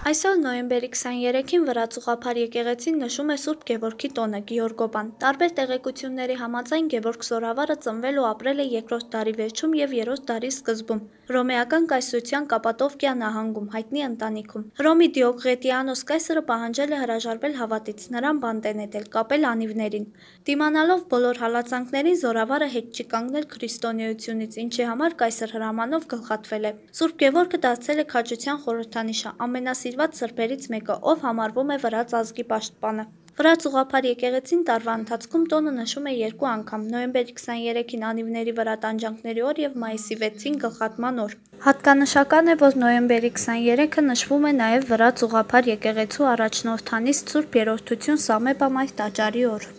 Այսօր նոյեմբերի 23-ին Վրաց եկեղեցին նշում է Սուրբ Գևորգի տոնը Գեորգոբան։ Տարբեր տեղեկությունների համաձայն Գևորգ Զորավարը ծնվել ու ապրել է 2-րդ դարի վերջում և 3-րդ դարի սկզբում հռոմեական կայսրության Կապադովկիա նահանգում հայտնի ընտանիքում։ Հռոմի Դիոկլետիանոս կայսրը պահանջել է հրաժարվել հավատից, նրան բանտ է նետել, կապել անիվներին։ Դիմանալով բոլոր հալածանքներին Զորավարը հետ չի կանգնել քրիստոնեությունից, ինչի համար կայսր հրամանով գլխատվել է։ Սուրբ Գևորգը դարձել է քաջության խորհրդանիշը, ամենասիրված սրբերից մեկը, ով համարվում է վրաց ազգի պաշտպանը։ Վրաց եկեղեցին տարվա ընթացքում տոնը նշում է 2 անգամ՝ նոյեմբերի 23-ին անիվների վրա տանջանքների օր և մայիսի 6-ին գլխատման օր։ Հատկանշական է, որ նոյեմբերի 23-ը նշվում է նաև Վրաց եկեղեցու առաջնորդանիստ Սուրբ Երրորդություն Սամեբա մայր տաճարի օր։